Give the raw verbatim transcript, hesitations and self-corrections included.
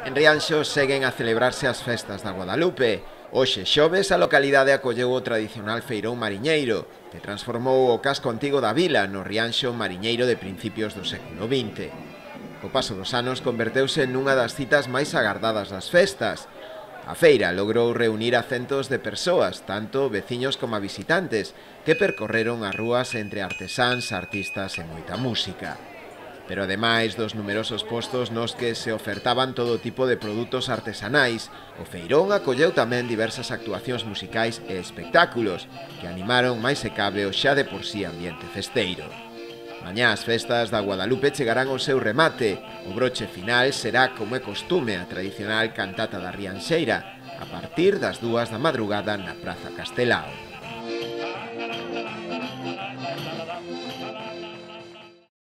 En Rianxo seguen a celebrarse as festas da Guadalupe. Hoxe xoves a localidade acolleu o tradicional feirón mariñeiro, que transformou o casco antigo da vila no Rianxo mariñeiro de principios do século vinte. Co paso dos anos converteuse nunha das citas máis agardadas das festas. A feira logrou reunir a centos de persoas, tanto veciños como visitantes, que percorreron as rúas entre artesáns, artistas e moita música. Pero ademais dos numerosos postos nos que se ofertaban todo tipo de produtos artesanais, o feirón acolleu tamén diversas actuacións musicais e espectáculos que animaron máis se cabe o xa de por sí ambiente festeiro. Mañá as festas da Guadalupe chegarán ao seu remate. O broche final será, como é costume, a tradicional cantata da Rianxeira, a partir das dúas da madrugada na Praza Castelao.